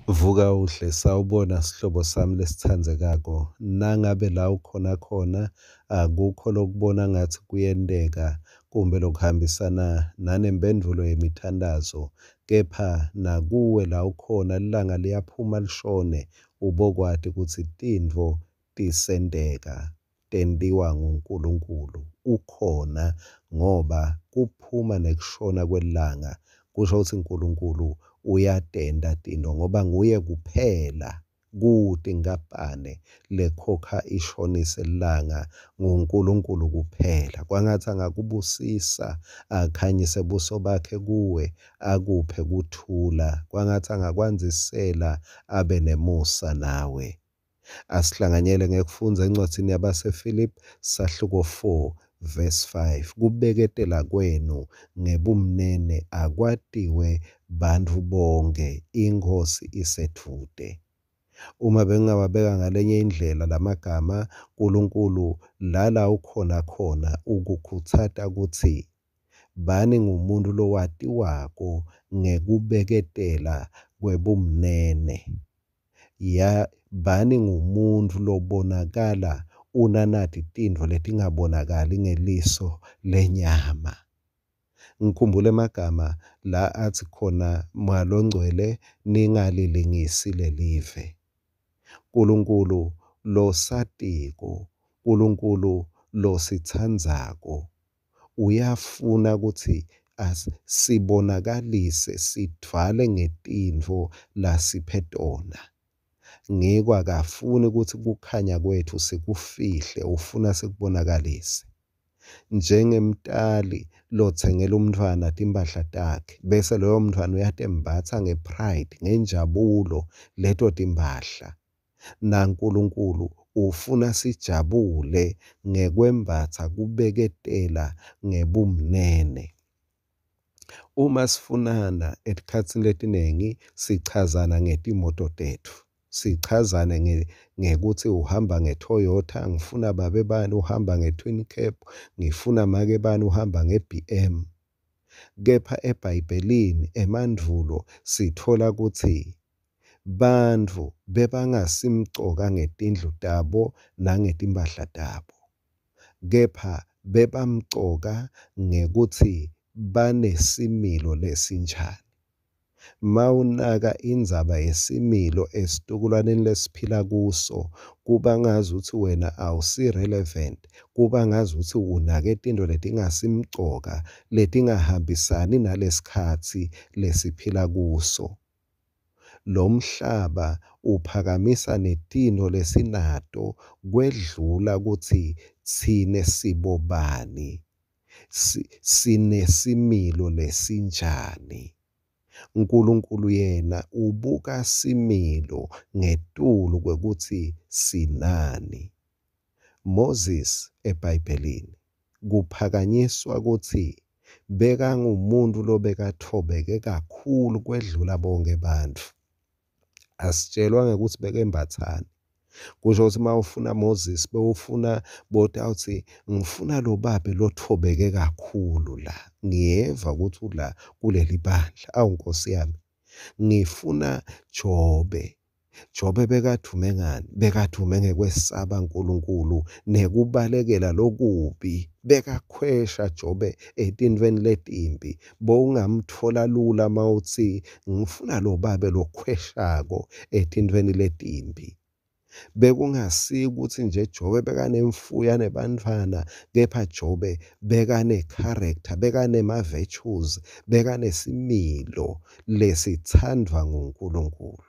Vuka uhle, sawubona sihlobo sami lesitsandzekako. Nangabe la ukhona khona akukho lokubona ngathi kuyenteka kumbe lokuhambisana nanemphendvulo yemithandazo, kepha nakuwe la ukhona lilanga liyaphuma lishone, ubokwati kutsi tintfo tisenteka, tentiwa nguNkulunkulu. Ukhona ngoba kuphuma nekushona kwelilanga kusho kutsi Nkulunkulu uyatenta tintfo ngoba nguye kuphela kute inkampane lekhokha ishonise lilanga nguNkulunkulu kuphela. Kwangatsi angakubusisa akhanyise buso bakhe kuwe akuphe kuthula. Kwangatsi angakwandzisela abe nemusa nawe. Asihlanganyele ngekufundza encwadzini yabaseFilipi sahluko 4 verse 5. Kubeketela kwenu ngebumnene akwatiwe bantfu bonkhe, iNkhosi isedvute. Uma bengingawabeka ngalenye indlela lamagama, Nkulunkulu lala ukhona khona ukukhutsata kutsi bani ngumuntu lowatiwako ngekubeketela kwebumnene. Ya bani ngumuntfu lobonakala unanati tintfo letingabonakali ngeliso lenyama. Ngikhumbula emagama la athi khona Moya loNgcwele ningalilingisi lelive. Nkulunkulu losatiko, Nkulunkulu lositsandzako uyafuna kutsi sibonakalise sidvwale ngetintfo lasiphe tona. Ngiko akafuni kutsi kukhanya kwetfu sikufihle, ufuna sikubonakalise. Njengemtali lotsengela umntfwana timphahla takhe bese loyo mntfwana uyatembatsa nge-pride, ngenjabulo leto timphahla. NaNkulunkulu ufuna sijabule ngekwembatsa kubeketela ngebumnene. Uma sifunana etikhatsini letiningi sichazana ngetimoto tetfu, sichazane ngekutsi uhamba nge-Toyota, ngifuna babe bani uhamba nge-twin cab, ngifuna make bani uhamba nge-B_M. Kepha eBhayibhelini emandvulo sitfola kutsi bantfu bebangasimcoka ngetindlu tabo nangetimpahla tabo, kepha bebamcoka ngekutsi banesimilo lesinjani. Mawunaka indzaba yesimilo esitukulwaneni lesiphila kuso, kuba ngazuthi wena awusi-relevant, kuba ngazuthi unake tintfo letingasimcoka, letingahambisani nalesikhatsi lesiphila kuso. Lo mhlaba uphakamisa netintfo lesinato kwedlula kutsi tsine sibobani, sinesimilo lesinjani. Nkulunkulu yena ubuka similo ngetulu kwekutsi sinani. Moses eBhayibhelini kuphakanyiswa kutsi bekangumuntu lobekatfobeke kakhulu kwedlula bonke bantfu. Asitshelwa ngekutsi bekembatsani. Kusho kutsi uma ufuna Moses bewufuna botawutsi ngifuna lo babe lotfobeke kakhulu la. Ngiyeva ukuthi ula kuleli bandla. Awu Nkosi yami, ngifuna Jobe. Jobe bekadvume ngani? Bekadvume ngekwesaba Nkulunkulu nekubalekela lokubi. Bekakhwesha Jobe etintfweni letimbi. Bowungamtfola lula mawutsi ngifuna lo babe lokhweshako etintfweni letimbi. Bekungasiyo ukuthi nje Jobe bekanemfuyo anebantfwana, kepha Jobe bekane-character, bekanema-virtues, bekanesimilo lesithandwa nguNkulunkulu.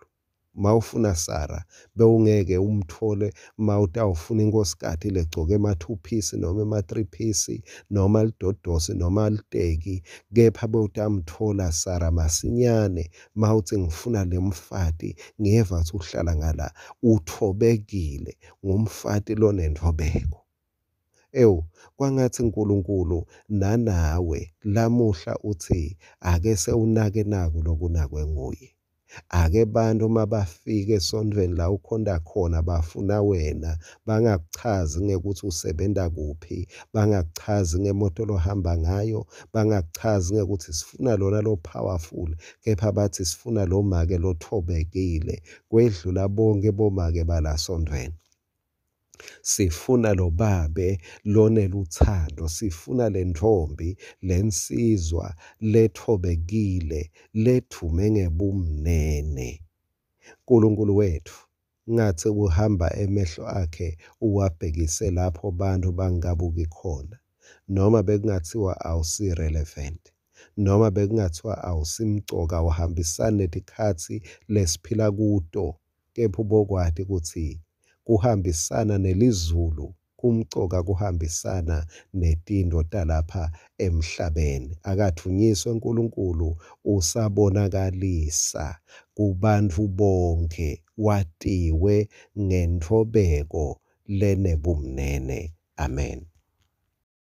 Mawufuna Sara bewungeke umtfole mawutawufuna inkhosikati legcoke ema-two piece noma ema-three piece noma lidodosi noma liteki, kepha bewutamtfola Sara masinyane mawutsi ngifuna le mfati ngiyeva kutsi uhlala ngala utfobekile ngumfati lonentfobeko. Ewu, kwangatsi Nkulunkulu nanawe lamuhla utsi ake sewunake naku lokunakwe nguye. Ake bantfu mabafika esontfweni la ukhonta khona bafuna wena, bangakuchazi ngekutsi usebenta kuphi, bangakuchazi ngemoto lohamba ngayo, bangakuchazi ngekutsi sifuna lona lo powerful, kepha bathi sifuna lo make lothobekile kwedlula bonke bomake balasontfweni. Sifuna lo babe loneluthando, sifuna lentfombi, lensizwa lethobekile, ledvume ngebumnene. Nkulunkulu wetfu ngatsi kuhamba emehlo akhe uwabhekise lapho bantfu bangabuki khona, noma bekungathiwa awusi-relevant, noma bekungathiwa awusimcoka, awuhambisani netikhatsi lesiphila kuto, kepha ubokwati kutsi kuhambisana nelizulu kumcoka kuhambisana netintfo talapha emhlabeni. Akadvunyiswe Nkulunkulu, usabonakalisa kubantfu bonkhe, watiwe ngentfobeko lenebumnene. Amen.